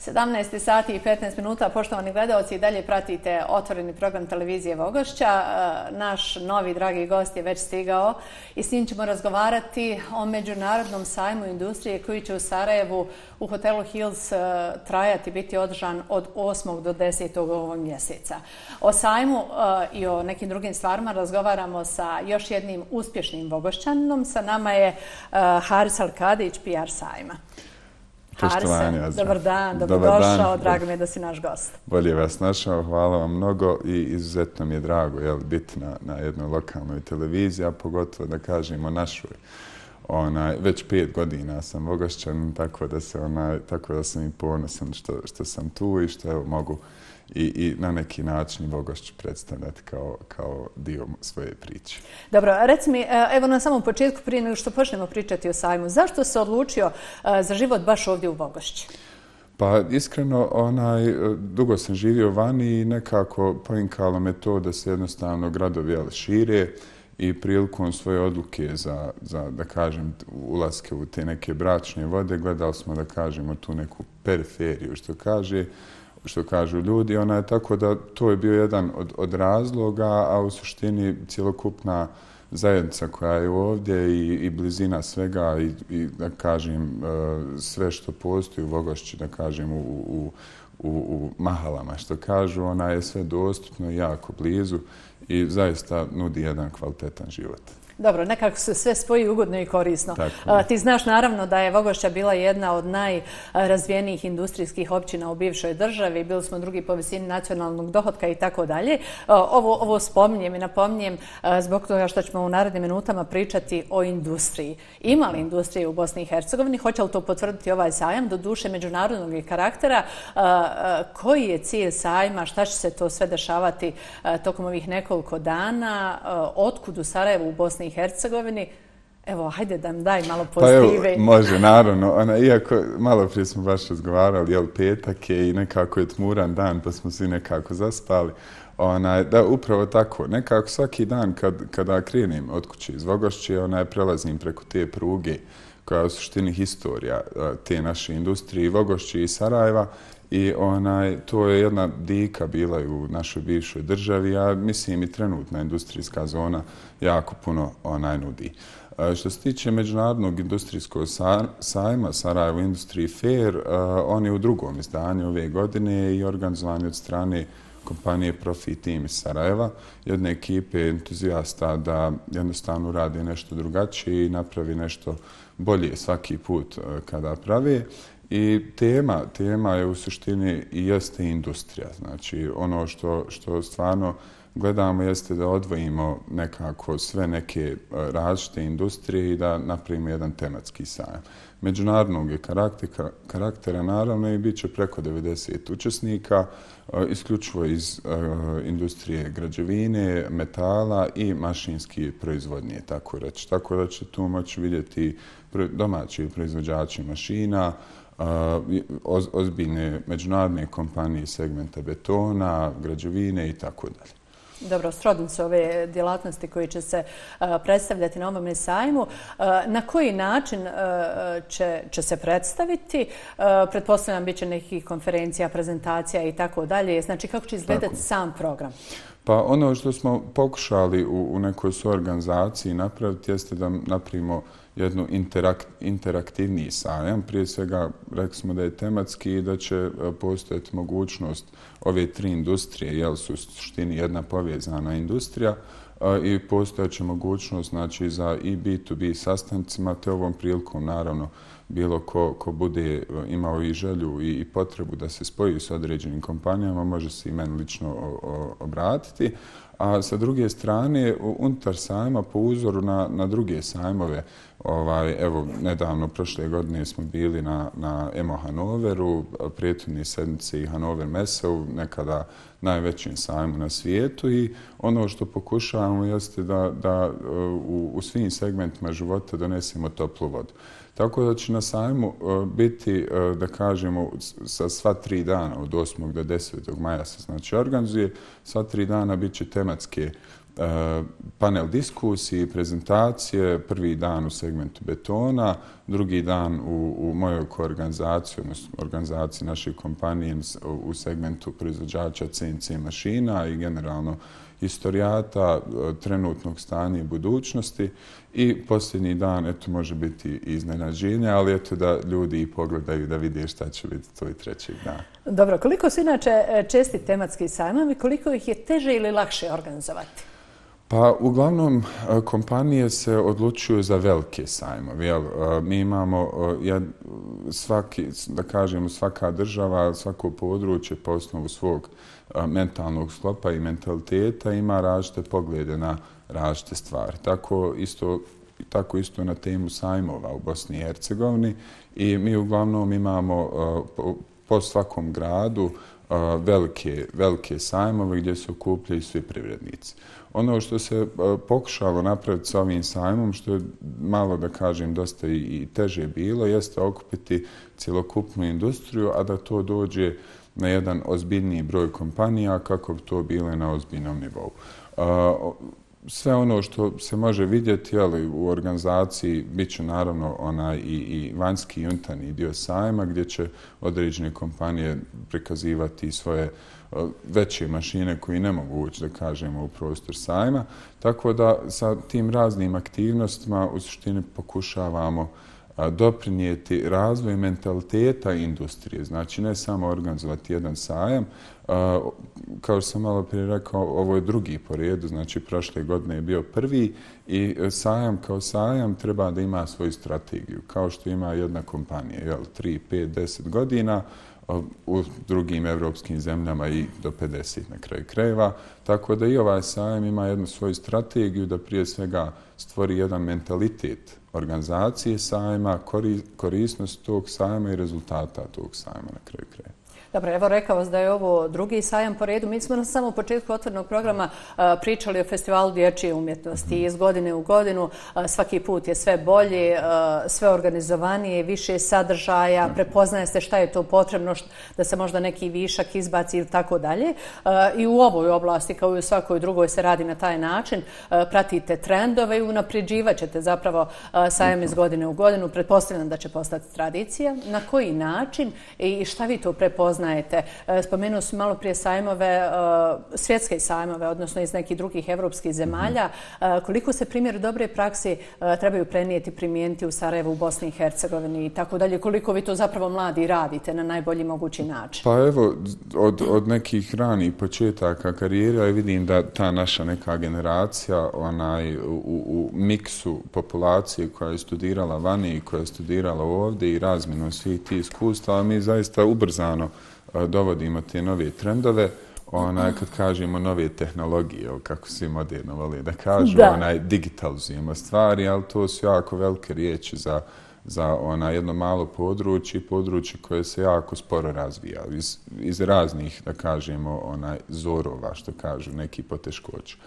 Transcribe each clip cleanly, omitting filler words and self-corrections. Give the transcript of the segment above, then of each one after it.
17 sati i 15 minuta, poštovani gledalci, i dalje pratite otvoreni program televizije Vogošća. Naš novi dragi gost je već stigao i s njim ćemo razgovarati o Međunarodnom sajmu industrije koji će u Sarajevu u hotelu Hills trajati, biti održan od 8. do 10. ovog mjeseca. O sajmu i o nekim drugim stvarima razgovaramo sa još jednim uspješnim Vogošćaninom. Sa nama je Haris Alkadić, PR sajma. Harise, dobar dan, dobrodošao, drago mi je da si naš gost. Bolje vas našao, hvala vam mnogo i izuzetno mi je drago biti na jednoj lokalnoj televiziji, a pogotovo da kažemo našoj. Već 5 godina sam Vogošćanin, tako da sam i ponosan što sam tu i što evo, mogu i na neki način Vogošću predstavljati kao dio svoje priče. Dobro, reci mi, evo na samom početku, prije nego što počnemo pričati o sajmu, zašto se odlučio za život baš ovdje u Vogošći? Pa iskreno, dugo sam živio vani i nekako poinkalo me to da se jednostavno gradovi šire i prilikom svoje odluke za da kažem, ulaske u te neke bračne vode, gledali smo, da kažemo, tu neku periferiju, što kažu ljudi. Tako da to je bio jedan od razloga, a u suštini cjelokupna zajednica koja je ovdje i blizina svega i da kažem sve što postoji u Vogošći, da kažem u mahalama što kažu, ona je sve dostupno i jako blizu i zaista nudi jedan kvalitetan život. Dobro, nekako se sve spoji ugodno i korisno. Ti znaš naravno da je Vogošća bila jedna od najrazvijenijih industrijskih općina u bivšoj državi. Bili smo drugi po visini nacionalnog dohotka i tako dalje. Ovo spominjem i napominjem zbog toga što ćemo u narednim minutama pričati o industriji. Ima li industrije u Bosni i Hercegovini? Hoće li to potvrditi ovaj sajam? Do duše međunarodnog karaktera. Koji je cilj sajma? Šta će se to sve dešavati tokom ovih nekoliko dana? Otkud u Sarajevu u Bosni i Hercegovini? Evo, hajde da nam daj malo pozitive. Pa evo, može, naravno. Iako malo prije smo baš razgovarali, petak je i nekako je tmuran dan, pa smo svi nekako zaspali. Da, upravo tako. Nekako svaki dan kada krenem od kuće iz Vogošće, prelazim preko te pruge koja je u suštini historija te naše industrije, Vogošće i Sarajeva. I to je jedna dika bila i u našoj bivšoj državi, a mislim i trenutna industrijska zona jako puno nudi. Što se tiče Međunarodnog industrijskog sajma Sarajevo Industry Fair, on je u drugom izdanju ove godine i organizovan od strane kompanije Profit Team iz Sarajeva, jedne ekipe entuzijasta da jednostavno radi nešto drugačije i napravi nešto bolje svaki put kada pravi. I tema je u suštini i jeste industrija. Znači, ono što stvarno gledamo jeste da odvojimo nekako sve neke različite industrije i da napravimo jedan tematski sajam. Međunarodnog je karaktera naravno i bit će preko 90 učesnika, isključivo iz industrije građevine, metala i mašinske proizvodnje, tako reći. Tako da će tu moći vidjeti domaći proizvođači mašina, ozbiljne međunarodne kompanije segmenta betona, građevine i tako dalje. Dobro, srodnice su ove djelatnosti koje će se predstavljati na ovome sajmu. Na koji način će se predstaviti? Pretpostavljam bit će nekih konferencija, prezentacija i tako dalje. Znači, kako će izgledati sam program? Pa ono što smo pokušali u nekoj suorganizaciji napraviti jeste da napravimo jednu interaktivniji sajam. Prije svega rekli smo da je tematski i da će postojati mogućnost ove 3 industrije, jer su u suštini jedna povezana industrija i postojeća mogućnost znači, za i B2B sastancima, te ovom prilikom naravno bilo ko bude imao i želju i potrebu da se spoji s određenim kompanijama, može se i meni lično obratiti. A sa druge strane, unutar sajma, po uzoru na druge sajmove, evo, nedavno, prošle godine smo bili na EMO Hanoveru, prethodne sedmice i Hanover Meseu, nekada najvećim sajmu na svijetu i ono što pokušavamo jeste da u svim segmentima života donesemo toplu vodu. Tako da će na sajmu biti, da kažemo, sa sva 3 dana, od 8. do 10. maja se znači organizuje, sva 3 dana bit će tematske panel diskusiji, prezentacije, prvi dan u segmentu betona, drugi dan u mojoj organizaciji, odnosno organizaciji naše kompanije u segmentu proizvođača CNC mašina i generalno historijata, trenutnog stanja i budućnosti i posljednji dan, eto, može biti iznenađenje, ali eto da ljudi i pogledaju da vide šta će biti tvoj trećeg dana. Dobro, koliko su inače česti tematski sajmovi, koliko ih je teže ili lakše organizovati? Pa, uglavnom, kompanije se odlučuju za velike sajmove. Mi imamo da kažemo, svaka država, svako područje po osnovu svog mentalnog sklopa i mentaliteta ima različite poglede na različite stvari. Tako isto na temu sajmova u Bosni i Hercegovini i mi uglavnom imamo po svakom gradu velike sajmove gdje se okupljaju svi privrednici. Ono što se pokušalo napraviti s ovim sajmom, što je malo, da kažem, dosta i teže bilo, jeste okupiti cjelokupnu industriju, a da to dođe na jedan ozbiljniji broj kompanija kako bi to bile na ozbiljnom nivou. Sve ono što se može vidjeti u organizaciji bit će naravno i vanjski i unutarnji dio sajma gdje će određene kompanije prikazivati svoje veće mašine koji ne mogu ući, da kažemo, u prostor sajma. Tako da sa tim raznim aktivnostima u suštini pokušavamo doprinijeti razvoju mentaliteta industrije. Znači, ne samo organizovati jedan sajam. Kao što sam malo prije rekao, ovo je drugi po redu, znači prošle godine je bio prvi i sajam kao sajam treba da ima svoju strategiju, kao što ima jedna kompanija, 3, 5, 10 godina, u drugim evropskim zemljama i do 50 na kraju krajeva. Tako da i ovaj sajam ima jednu svoju strategiju da prije svega stvori jedan mentalitet organizacije sajma, korisnost tog sajma i rezultata tog sajma na kraju krajeva. Dobro, evo rekao vas da je ovo drugi sajam po redu. Mi smo na samom početku otvorenog programa pričali o festivalu dječje umjetnosti i iz godine u godinu svaki put je sve bolje, sve organizovanije, više sadržaja, prepoznaje se šta je to potrebno da se možda neki višak izbaci ili tako dalje. I u ovoj oblasti, kao i u svakoj drugoj, se radi na taj način. Pratite trendove i unapređivat ćete zapravo sajam iz godine u godinu. Pretpostavljam da će postati tradicija. Na koji način i šta vi to prepoznajete? Spomenuo sam malo prije sajmove, svjetske sajmove, odnosno iz nekih drugih evropskih zemalja. Koliko se primjer dobre praksi trebaju prenijeti, primijeniti u Sarajevu, u Bosni i Hercegovini i tako dalje? Koliko vi to zapravo mladi radite na najbolji mogući način? Pa evo, od nekih ranih početaka karijera vidim da ta naša neka generacija u miksu populacije koja je studirala vani i koja je studirala ovdje i razmjenom svih tih iskustava, mi zaista ubrzano dovodimo te nove trendove, kad kažemo nove tehnologije, kako svi moderno vole da kažu, digitalizujemo stvari, ali to su jako velike riječi za jedno malo područje koje se jako sporo razvija iz raznih, da kažemo, zorova, što kažu neki poteškoća.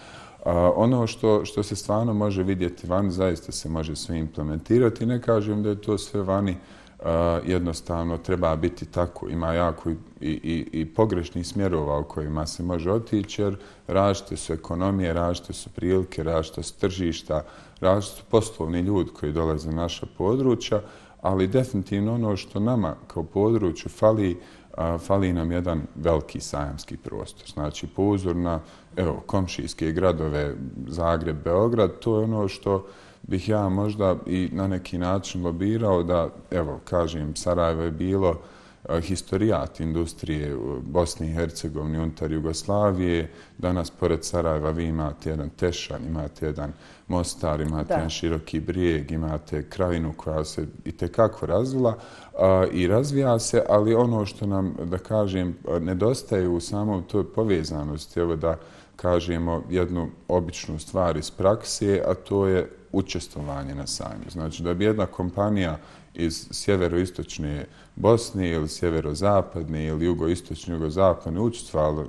Ono što se stvarno može vidjeti vani, zaista se može sve implementirati. Ne kažem da je to sve vani jednostavno treba biti tako. Ima jako i pogrešnih smjerova u kojima se može otići, jer različite su ekonomije, različite su prilike, različite su tržišta, različite su poslovni ljudi koji dolaze na naša područja, ali definitivno ono što nama kao području fali nam jedan veliki sajamski prostor. Znači, po uzoru na komšijske gradove Zagreb, Beograd, to je ono što bih ja možda i na neki način lobirao da, kažem, Sarajevo je bilo historijat industrije u Bosni i Hercegovini unutar Jugoslavije. Danas, pored Sarajeva, vi imate jedan Tešan, imate jedan Mostar, imate jedan Široki Brijeg, imate krajinu koja se itekako razvila i razvija se, ali ono što nam, da kažem, nedostaje u samom toj povezanosti, da kažemo jednu običnu stvar iz prakse, a to je učestvovanje na sajmu. Znači da bi jedna kompanija iz sjeveroistočne Bosne ili sjeverozapadne ili jugoistočne, jugozapadne učestvovala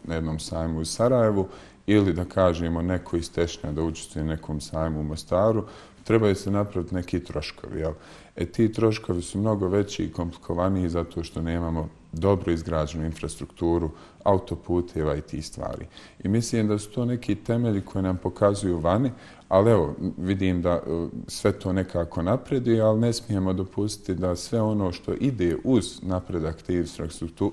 na jednom sajmu u Sarajevu ili da kažemo neko iz Tešnja da učestvuje na nekom sajmu u Mostaru, trebaju se napraviti neki troškovi. Ti troškovi su mnogo veći i komplikovaniji zato što nemamo dobro izgrađenu infrastrukturu, autoputeva i tih stvari. I mislim da su to neki temelji koji nam pokazuju vani, ali evo, vidim da sve to nekako napreduje, ali ne smijemo dopustiti da sve ono što ide uz napredak te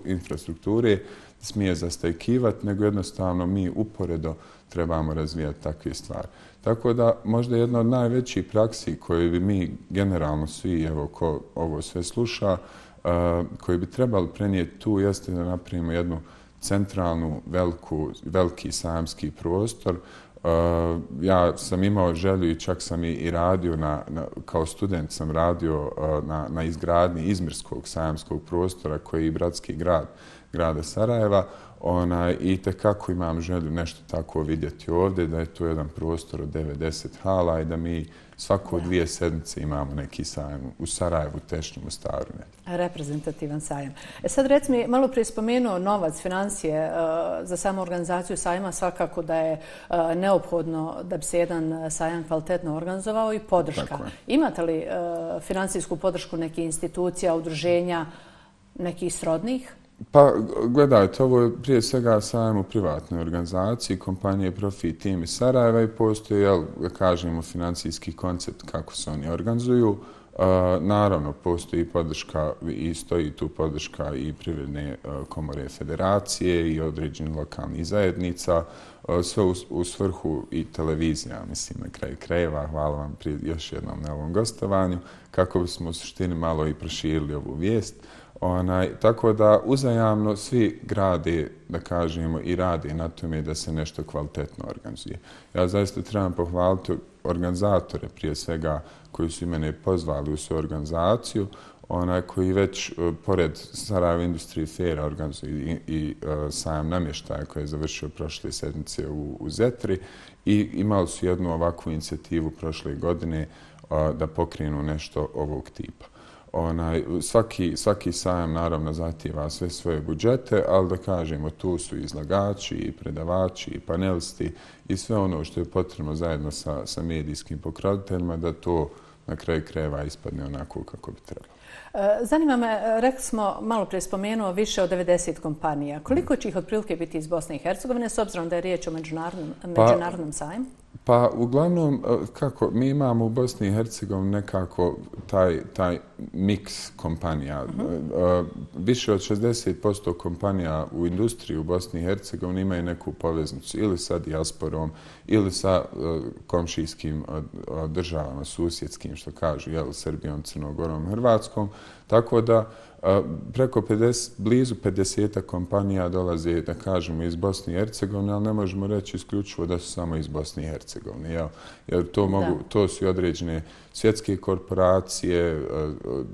infrastrukture smije zastajkivati, nego jednostavno mi uporedo trebamo razvijati takve stvari. Tako da možda jedna od najvećih praksi koje bi mi generalno svi, evo ko ovo sve sluša, koji bi trebali prenijeti tu jeste da napravimo jednu centralnu, veliki sajamski prostor. Ja sam imao želju i čak sam i radio, kao student sam radio na izgradnji Izmirskog sajamskog prostora koji je i bratski grad grada Sarajeva. I tekako imam želju nešto tako vidjeti ovdje, da je to jedan prostor od 9-10 hala i da mi svako 2 sedmice imamo neki sajam u Sarajevu, Tešnju, Mostaru. Reprezentativan sajam. Sad reci mi, malo prije spomenuo novac, financije za samu organizaciju sajma, svakako da je neophodno da bi se jedan sajam kvalitetno organizovao i podrška. Imate li financijsku podršku nekih institucija, udruženja, nekih srodnih? Pa, gledajte, ovo je prije svega sajam u privatnoj organizaciji, kompanije Profit Team iz Sarajeva i postoji, da kažemo, financijski koncept kako se oni organizuju. Naravno, postoji podrška i stoji tu podrška i Privredne komore federacije i određenih lokalnih zajednica, sve u svrhu i televizija, mislim, na kraju krajeva. Hvala vam još jednom na ovom gostovanju, kako bismo u suštini malo i proširili ovu vijest. Tako da uzajamno svi grade, da kažemo, i rade na tome da se nešto kvalitetno organizuje. Ja zaista trebam pohvaliti organizatore prije svega koji su mene pozvali u svoju organizaciju, koji već pored Sarajevo Industry Faira organizuju i sajam namještaja koji je završio prošle sedmice u Zetri i imali su jednu ovakvu inicijativu prošle godine da pokrenu nešto ovog tipa. Svaki sajam naravno zahtijeva sve svoje budžete, ali da kažemo tu su izlagači, i predavači, i panelisti i sve ono što je potrebno zajedno sa medijskim pokroviteljima da to na kraju krajeva ispadne onako kako bi trebalo. Zanima me, rekli smo, malo prije spomenuo, više od 90 kompanija. Koliko će ih otprilike biti iz Bosne i Hercegovine, s obzirom da je riječ o međunarodnom sajmu? Pa, uglavnom, kako, mi imamo u Bosni i Hercegovini nekako taj miks kompanija. Više od 60% kompanija u industriji u Bosni i Hercegovini imaju neku poveznicu ili sa dijasporom ili sa komšijskim državama, susjedskim, što kažu, Srbijom, Crnogorom, Hrvatskom. Tako da preko blizu 50 kompanija dolaze, da kažemo, iz Bosne i Hercegovine, ali ne možemo reći isključivo da su samo iz Bosne i Hercegovine. Jer to su i određene svjetske korporacije,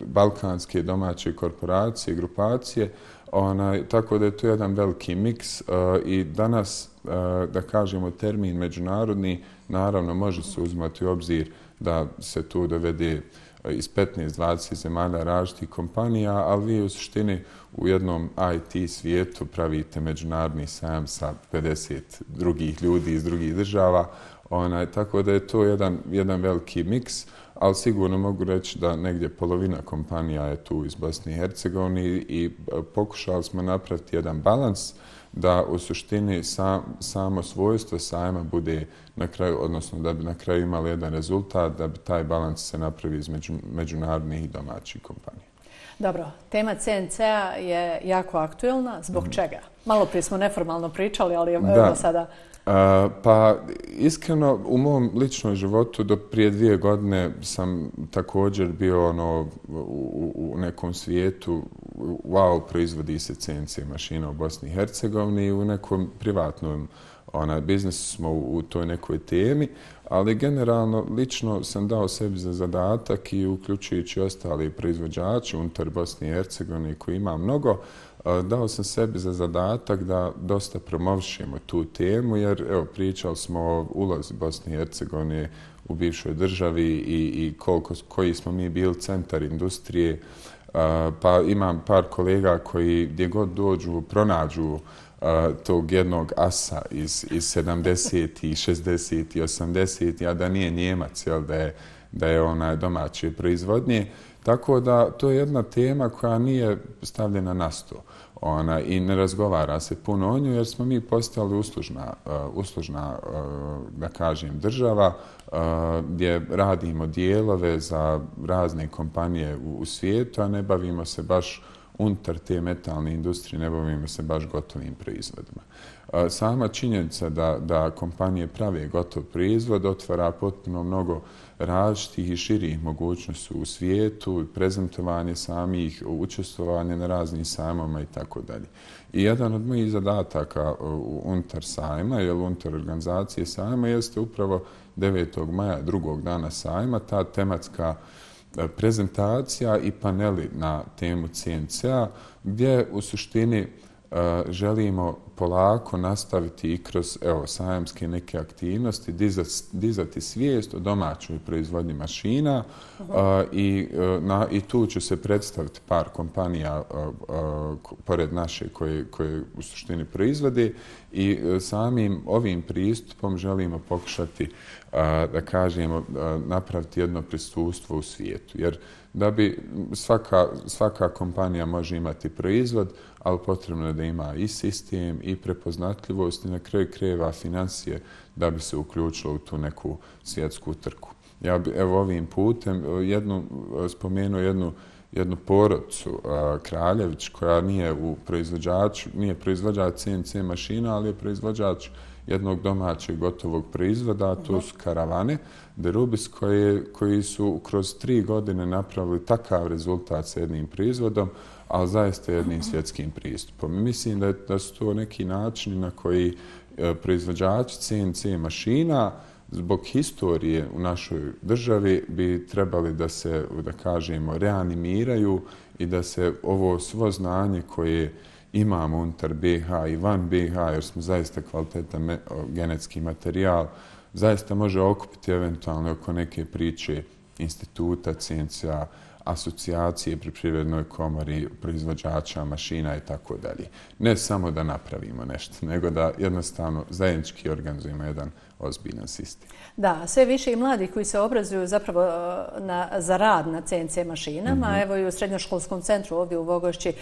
balkanske domaće korporacije, grupacije, tako da je to jedan veliki miks i danas, da kažemo, termin međunarodni, naravno može se uzmati u obzir da se tu dovede iz 15-20 zemalja različitih kompanija, ali vi u suštini u jednom IT svijetu pravite međunarodni sajam sa 50 drugih ljudi iz drugih država, tako da je to jedan veliki miks, ali sigurno mogu reći da negdje polovina kompanija je tu iz Bosne i Hercegovine i pokušali smo napraviti jedan balans da u suštini samo svojstvo sajma bude na kraju, odnosno da bi na kraju imali jedan rezultat, da bi taj balans se napravi između međunarodnih i domaćih kompanija. Dobro, tema CNC-a je jako aktuelna. Zbog čega? Malo prije smo neformalno pričali, ali evo sada... Pa, iskreno, u mom ličnom životu do prije 2 godine sam također bio u nekom svijetu, wow, proizvodi se CNC mašina u Bosni i Hercegovini i u nekom privatnom biznisu smo u toj nekoj temi, ali generalno lično sam dao sebi za zadatak i uključujući ostali proizvođači unutar Bosne i Hercegovine koji ima mnogo, dao sam sebi za zadatak da dosta promovišemo tu temu, jer evo, pričali smo o ulozi Bosne i Hercegovine u bivšoj državi i koji smo mi bili centar industrije. Pa imam par kolega koji gdje god dođu pronađu tog jednog asa iz 70. 60. 80. a da nije Njemac, da je domaće proizvodnje. Tako da to je jedna tema koja nije stavljena na sto. I ne razgovara se puno o njoj jer smo mi postali uslužna da kažem, država gdje radimo dijelove za razne kompanije u svijetu, a ne bavimo se baš unutar te metalne industrije, ne bavimo se baš gotovim proizvodima. Sama činjenica da kompanije prave gotov proizvod otvara potpuno mnogo različitih i širih mogućnosti u svijetu, prezentovanje samih, učestvovanje na raznim sajmama i tako dalje. I jedan od mojih zadataka unutar sajma, ili unutar organizacije sajma, jeste upravo 9. maja, drugog dana sajma, ta tematska prezentacija i paneli na temu CNC-a, gdje u suštini želimo polako nastaviti i kroz sajamske neke aktivnosti, dizati svijest o domaćoj proizvodnji mašina i tu će se predstaviti par kompanija pored naše koje u suštini proizvode i samim ovim pristupom želimo pokušati da kažemo napraviti jedno prisustvo u svijetu. Jer da bi svaka kompanija može imati proizvod, ali potrebno je da ima i sistem i prepoznatljivost i na kraju krajeva financije da bi se uključilo u tu neku svjetsku trku. Ja bi ovim putem spomenuo jednu porodicu Kraljević koja nije proizvođač CNC mašina, ali je proizvođač jednog domaćeg gotovog proizvoda, to su karavane de Rubis koji su kroz 3 godine napravili takav rezultat sa jednim proizvodom, ali zaista jednim svjetskim pristupom. Mislim da su to neki načini na koji proizvođači CNC mašina zbog historije u našoj državi bi trebali da se, da kažemo, reanimiraju i da se ovo svo znanje koje imamo unutar BiH i van BiH, jer smo zaista kvalitetan genetski materijal, zaista može okupiti eventualno oko neke priče instituta CNC-a, asocijacije pri Privrednoj komori, proizvođača mašina i tako dalje. Ne samo da napravimo nešto, nego da jednostavno zajednički organizujemo jedan ozbiljan sistem. Da, sve više i mladih koji se obrazuju zapravo za rad na CNC mašinama. Evo i u srednjoškolskom centru ovdje u Vogošći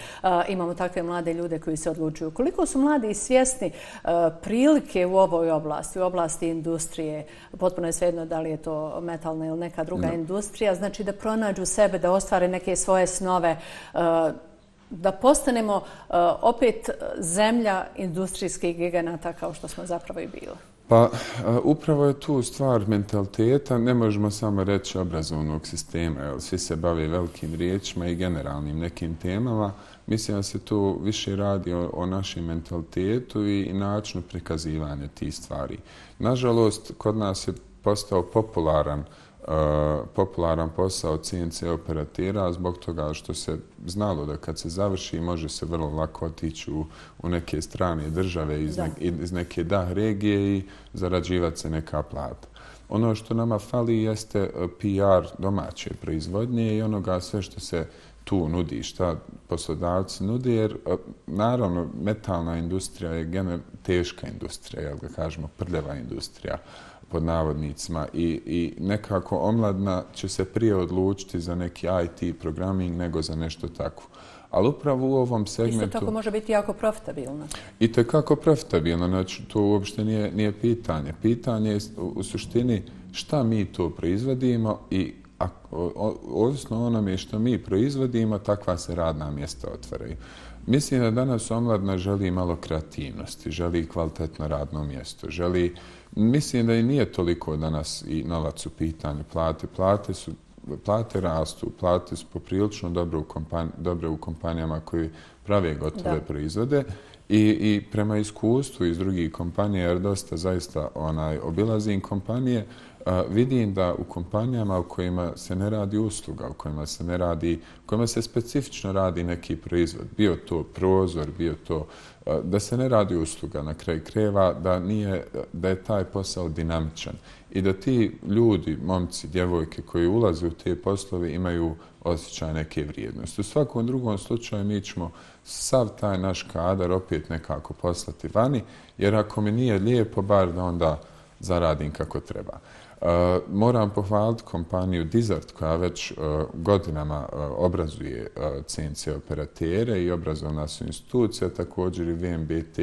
imamo takve mlade ljude koji se odlučuju. Koliko su mladi svjesni prilike u ovoj oblasti, u oblasti industrije, potpuno je svejedno da li je to metalna ili neka druga industrija, znači da pronađu sebe, da ostvare neke svoje snove, da postanemo opet zemlja industrijskih giganata kao što smo zapravo i bili. Pa upravo je tu stvar mentaliteta, ne možemo samo reći obrazovnog sistema, jer svi se bave velikim riječima i generalnim nekim temama. Mislim da se tu više radi o našem mentalitetu i načinu prikazivanja tih stvari. Nažalost, kod nas je postao popularan posao CNC operatera zbog toga što se znalo da kad se završi može se vrlo lako otići u neke strane države iz neke regije i zarađivati se neka plata. Ono što nama fali jeste PR domaće proizvodnje i onoga sve što se tu nudi, šta poslodavci nudi, jer naravno metalna industrija je teška industrija, jel ga kažemo, prljava industrija pod navodnicima i nekako omladina će se prije odlučiti za neki IT programming nego za nešto tako. Ali upravo u ovom segmentu... Isto tako može biti jako profitabilno. I tekako profitabilno, znači to uopšte nije pitanje. Pitanje je u suštini šta mi to proizvodimo i ovisno onome što mi proizvodimo, takva se radna mjesta otvaraju. Mislim da danas omladina želi malo kreativnosti, želi kvalitetno radno mjesto, mislim da i nije toliko danas i novac u pitanju plate. Plate rastu, plate su poprilično dobre u kompanijama koji prave gotove proizvode i prema iskustvu iz drugih kompanija, jer dosta zaista obilazim kompanije, vidim da u kompanijama u kojima se ne radi usluga, u kojima se specifično radi neki proizvod, bio to prozor, bio to da se ne radi usluga na kraju krajeva, da je taj posao dinamičan i da ti ljudi, momci, djevojke koji ulaze u te poslove imaju osjećaj neke vrijednosti. U svakom drugom slučaju mi ćemo sav taj naš kadar opet nekako poslati vani, jer ako mi nije lijepo, bar da onda zaradim kako treba. Moram pohvaliti kompaniju Dizart koja već godinama obrazuje CNC operatere i obrazovna su institucija, također i VMBT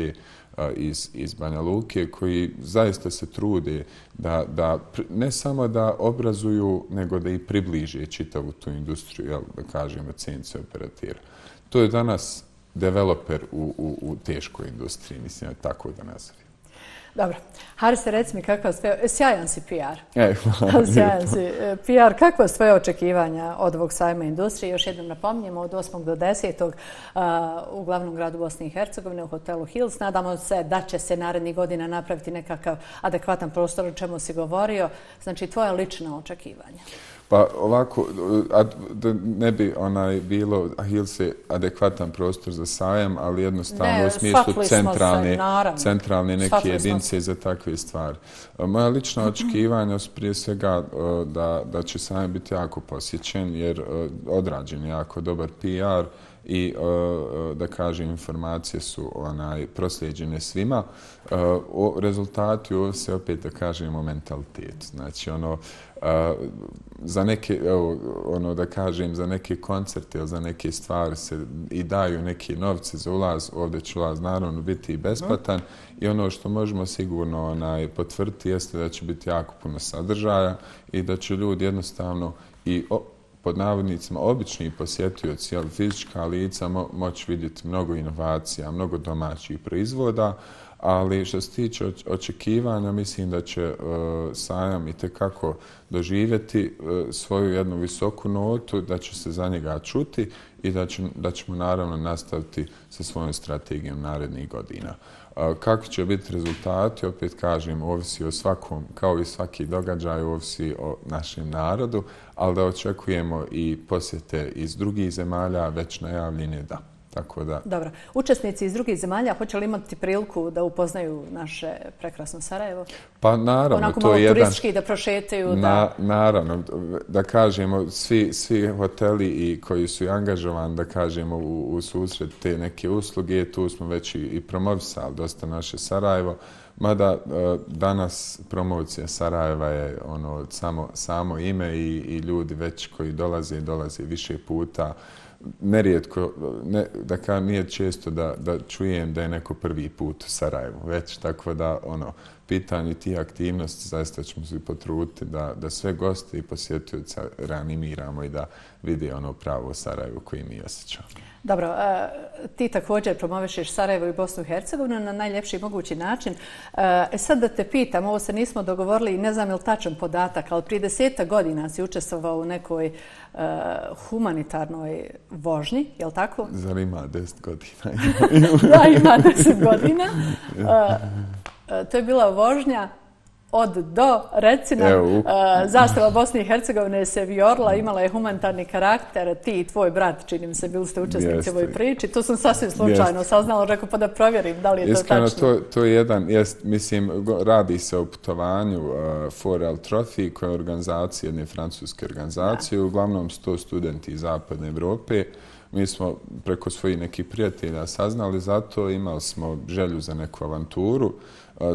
iz Banja Luke, koji zaista se trude da ne samo da obrazuju, nego da i približe čitavu tu industriju, da kažemo, CNC operatera. To je danas developer u teškoj industriji, mislim, tako da nazovem. Dobro. Harise, reci mi kakav sjajan si PR. Hvala. Sjajan si PR. Kakva su tvoje očekivanja od ovog sajma industrije? Još jednom napominjemo, od 8. do 10. U glavnom gradu Bosne i Hercegovine u hotelu Hills. Nadamo se da će se narednih godina napraviti nekakav adekvatan prostor, o čemu si govorio. Znači, tvoja lična očekivanja. Pa ovako, da ne bi bilo Hills je adekvatan prostor za sajam, ali jednostavno u smislu centralne neke jedinice za takve stvari. Moja lična očekivanja su prije svega da će sajam biti jako posjećen, jer odrađen je jako dobar PR i da kažem informacije su proslijeđene svima. Rezultati ovise opet da kažemo mentalitetu. Znači za neke, da kažem, za neke koncerte ili za neke stvari se i daju neke novce za ulaz, ovdje će ulaz naravno biti i besplatan i ono što možemo sigurno potvrditi jeste da će biti jako puno sadržaja i da će ljudi jednostavno i pod navodnicima obični posjetioci, ali fizička lica moći vidjeti mnogo inovacija, mnogo domaćih proizvoda, ali što se tiče očekivanja, mislim da će sajam itekako doživjeti svoju jednu visoku notu, da će se za njega čuti i da ćemo naravno nastaviti sa svojom strategijom narednih godina. Kakvi će biti rezultati, opet kažem, ovisi o svakom, kao i svaki događaj, ovisi o našem narodu, ali da očekujemo i posjete iz drugih zemalja, već najavljene da. Tako da. Dobro. Učesnici iz drugih zemalja hoće li imati priliku da upoznaju naše prekrasno Sarajevo? Pa naravno. Onako malo turistički da prošetaju? Naravno. Da kažemo, svi hoteli i koji su angažovani, da kažemo, u susret te neke usluge, tu smo već i promovisali dosta naše Sarajevo. Mada danas promocija Sarajeva je samo ime i ljudi već koji dolaze više puta. Nerijetko, nije često da čujem da je neko prvi put u Sarajevu, već tako da pitanje tih aktivnosti zaista ćemo se potruditi da sve goste i posjetioce reanimiramo i da vide pravo Sarajevo koje mi osjećamo. Dobro, ti također promovišeš Sarajevo i Bosnu i Hercegovinu na najljepši mogući način. Sad da te pitam, ovo se nismo dogovorili i ne znam je li tačan podatak, ali prije 10 godina si učestvovao u nekoj humanitarnoj vožnji, je li tako? Zar ima 10 godina? Da, ima 10 godina. To je bila vožnja od do, reci nam, zastava Bosne i Hercegovine se vijorila, imala je humanitarni karakter, ti i tvoj brat, čini mi se, bili ste učesnici u ovoj priči. To sam sasvim slučajno saznala, rekao pa da provjerim da li je to tačno. Iskreno, to je mislim, radi se o putovanju Forel Trophy, koja je organizacija, jedne francuske organizacije, uglavnom 100 studenti iz Zapadne Evrope. Mi smo preko svojih nekih prijatelja saznali za to, imali smo želju za neku avanturu.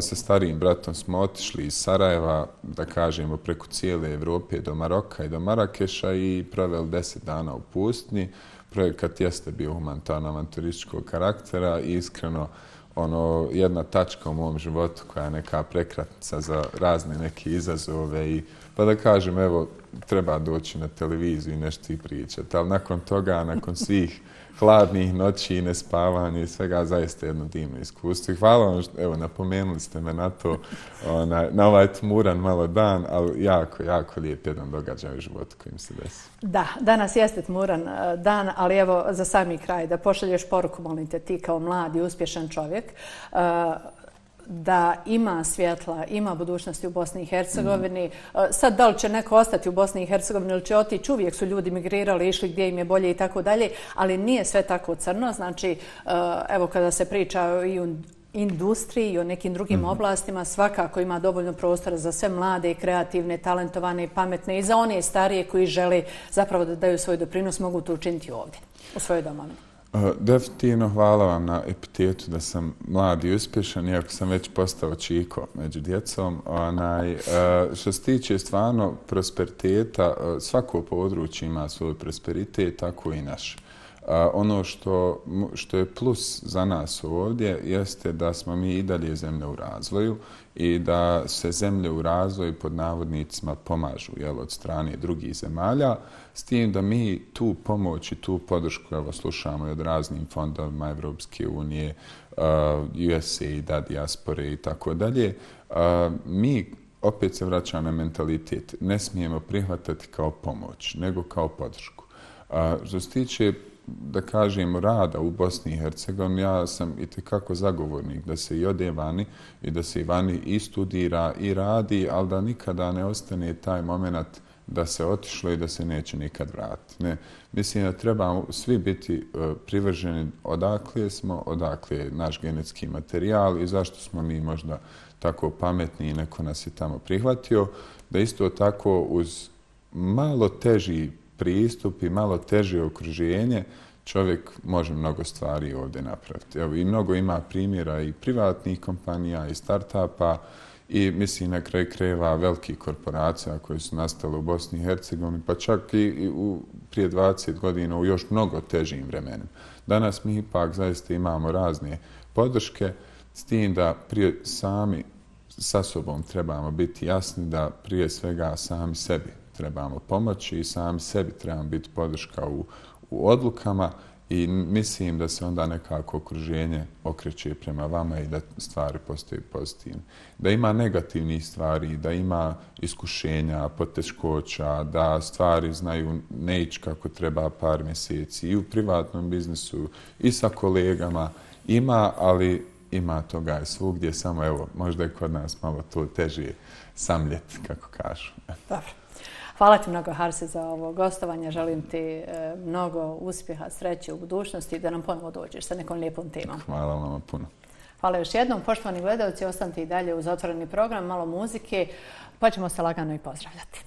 Sa starijim bratom smo otišli iz Sarajeva, da kažemo, preko cijele Evrope do Maroka i do Marakeša i proveli 10 dana u pustinji. Projekat jeste bio humanitarno-avanturističkog karaktera i iskreno jedna tačka u mom životu koja je neka prekretnica za razne neke izazove pa da kažem, evo, treba doći na televiziju i nešto i pričati. Ali nakon toga, nakon svih hladnih noći i nespavanja i svega, zaista jedno divno iskustvo. I hvala vam, evo, napomenuli ste me na to, na ovaj tmuran malo dan, ali jako, jako lijep jedan događaj u životu kojim se desi. Da, danas jeste tmuran dan, ali evo, za sami kraj, da pošalješ poruku, molim te, ti kao mlad i uspješan čovjek, da ima svjetla, ima budućnosti u Bosni i Hercegovini. Sad, da li će neko ostati u Bosni i Hercegovini ili će otići, uvijek su ljudi migrirali, išli gdje im je bolje i tako dalje, ali nije sve tako crno. Znači, evo, kada se priča i o industriji i o nekim drugim oblastima, svakako ima dovoljno prostora za sve mlade i kreativne, talentovane i pametne i za one starije koji žele zapravo da daju svoj doprinos, mogu to učiniti ovdje, u svojoj domovini. Definitivno hvala vam na epitetu da sam mlad i uspješan, iako sam već postao čiko među djecom. Što se tiče stvarno prosperiteta, svako područje ima svoj prosperitet, tako i naš. Ono što je plus za nas ovdje jeste da smo mi i dalje zemlja u razvoju i da se zemlje u razvoju pod navodnicima pomažu od strane drugih zemalja, s tim da mi tu pomoć i tu podršku slušamo i od raznim fondovima Evropske unije, USAID-a, dijaspore i tako dalje. Mi opet se vraćamo na mentalitet. Ne smijemo prihvatati kao pomoć, nego kao podršku. Što se tiče da kažem, rada u Bosni i Hercegovini, ja sam itekako zagovornik da se i ode vani i da se i vani i studira i radi, ali da nikada ne ostane taj moment da se otišlo i da se neće nikad vratiti. Ne. Mislim da trebamo svi biti privrženi odakle smo, odakle je naš genetski materijal i zašto smo mi možda tako pametni i neko nas je tamo prihvatio, da isto tako uz malo teži pristup i malo teže okruženje čovjek može mnogo stvari ovdje napraviti. Evo, i mnogo ima primjera i privatnih kompanija i start-upa i mislim na kraju krajeva velikih korporacija koje su nastale u Bosni i Hercegovini, pa čak i prije 20 godina u još mnogo težim vremenima. Danas mi ipak zaista imamo razne podrške, s tim da prije sami sa sobom trebamo biti jasni da prije svega sami sebi trebamo pomoći i sami sebi trebamo biti podrška u odlukama i mislim da se onda nekako okruženje okreće prema vama i da stvari postaju pozitivne. Da ima negativnih stvari, da ima iskušenja, poteškoća, da stvari znaju ne ići kako treba par mjeseci i u privatnom biznisu i sa kolegama. Ima, ali ima toga i svugdje, samo evo, možda je kod nas malo to teže samljeti, kako kažu. Dobro. Hvala ti mnogo, Harsi, za ovo gostovanje. Želim ti mnogo uspjeha, sreće u budućnosti i da nam ponovo dođeš sa nekom lijepom temom. Hvala vam puno. Hvala još jednom. Poštovani gledalci, ostanite i dalje uz otvoreni program, malo muzike, pa ćemo se lagano i pozdravljati.